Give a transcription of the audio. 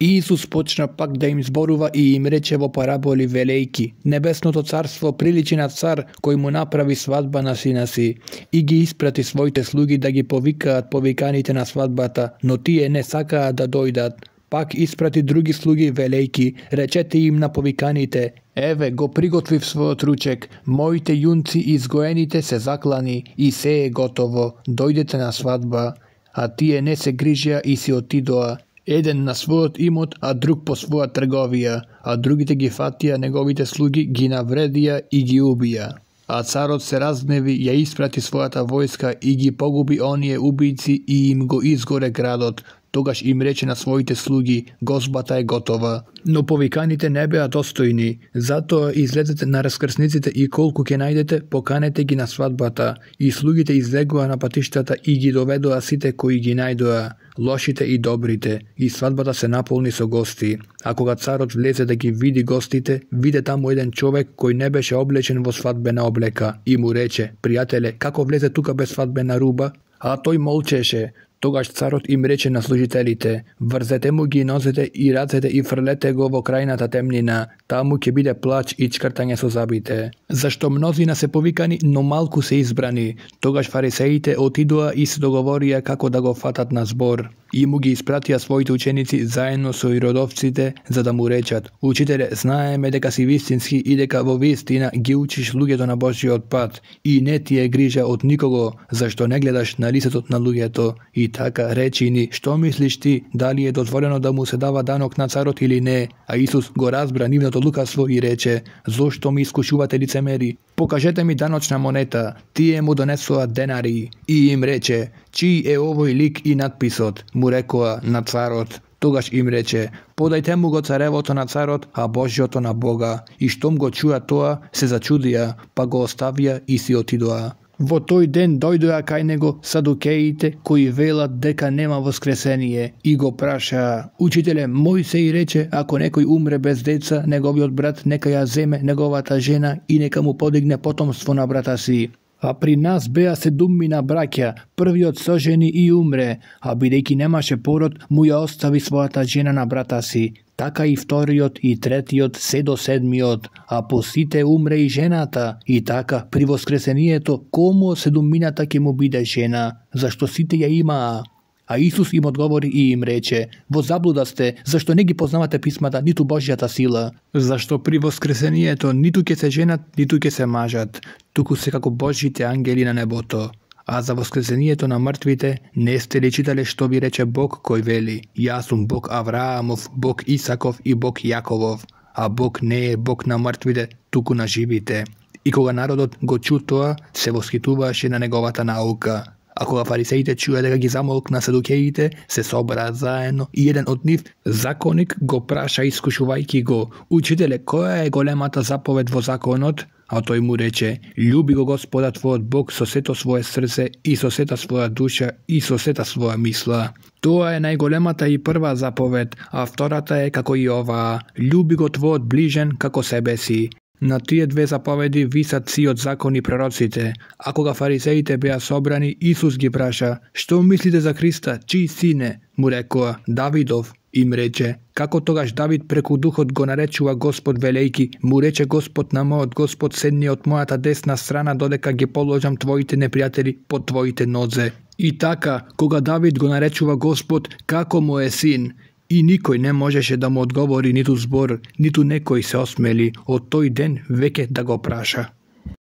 Исус почна пак да им зборува и им рече во параболи велејки: Небесното царство приличи на цар кој му направи свадба на сина си и ги испрати своите слуги да ги повикаат повиканите на свадбата, но тие не сакаат да дојдат. Пак испрати други слуги велејки: Речете им на повиканите: Еве го приготвив својот ручек, моите јунци изгоените се заклани и се е готово, дојдете на свадба. А тие не се грижија и си отидоа, еден на својот имот, а друг по своја трговија, а другите ги фатија неговите слуги, ги навредија и ги убија. А царот се разгневи, ја испрати својата војска и ги погуби оние убијци и им го изгоре градот. Тогаш им рече на своите слуги: Гозбата е готова. Но повиканите не беа достојни, затоа излезете на раскрсниците и колку ќе најдете, поканете ги на свадбата. И слугите излегоа на патиштата и ги доведоа сите кои ги најдоа, лошите и добрите, и свадбата се наполни со гости. А кога царот влезе да ги види гостите, виде таму еден човек кој не беше облечен во свадбена облека и му рече: Пријателе, како влезе тука без свадбена руба? А тој молчеше. Тогаш царот им рече на служителите: Врзете му ги нозете и рацете и фрлете го во крајната темнина, таму ќе биде плач и чкртање со забите. Зашто мнозина се повикани, но малку се избрани. Тогаш фарисеите отидоа и се договорија како да го фатат на збор. И му ги испратија своите ученици заедно со иродовците, за да му речат: Учителе, знаеме дека си вистински и дека во вистина ги учиш луѓето на Божјиот пат и не ти е грижа од никого, зашто не гледаш на лицето на луѓето. И така речи ни, што мислиш ти, дали е дозволено да му се дава данок на царот или не? А Исус го разбра нивното лукавство и рече: Зошто ми искушувате лицемери? Покажете ми даночна монета. Тие му донесоа денари. И им рече: Чиј е овој лик и надписот? Му рекоа: на царот. Тогаш им рече: Подајте му го царевото на царот, а Божјото на Бога. И штом го чуа тоа, се зачудија, па го оставија и си отидоа. Во тој ден дојдоа кај него садукеите кои велат дека нема воскресение и го прашаа: Учителе, Мојсей рече, ако некој умре без деца, неговиот брат нека ја земе неговата жена и нека му подигне потомство на брата си. А при нас беа 7 браќа, првиот сожени и умре, а бидејќи немаше пород, му ја остави својата жена на брата си. Така и вториот и третиот се до 7, а по сите умре и жената. И така, при воскресението, кому 7 ќе му биде жена, зашто сите ја имаа? А Исус им одговори и им рече: Во заблуда сте, зашто не ги познавате писмата, ниту Божјата сила. Зашто при воскресението ниту ќе се женат, ниту ќе се мажат, туку се како Божјите ангели на небото. А за воскресението на мртвите не сте ли читале што ви рече Бог кој вели: Јас сум Бог Авраамов, Бог Исаков и Бог Јаковов. А Бог не е Бог на мртвите, туку на живите. И кога народот го чу тоа, се восхитуваше на неговата наука. А кога фарисеите чуја дека ги замолкна садукеите, се собраа заедно и еден од нив, законник, го праша искушувајќи го: Учителе, која е големата заповед во законот? А тој му рече: Љуби го Господа твојот Бог со сето свое срце и со сета своја душа и со сета своја мисла. Тоа е најголемата и прва заповед, а втората е како и оваа: Љуби го твојот ближен како себе си. На тие 2 заповеди висат сиот закон и пророците. А кога фарисеите беа собрани, Исус ги праша: Што мислите за Христа, чиј сине? Му рекоа: Давидов. Им рече: Како тогаш Давид преку духот го наречува Господ велејки: Му рече Господ на мојот Господ: Седни од мојата десна страна додека ги положам твоите непријатели под твоите нозе. И така, кога Давид го наречува Господ како мој син, и никој не можеше да му одговори ниту збор, ниту некој се осмели од тој ден веќе да го праша.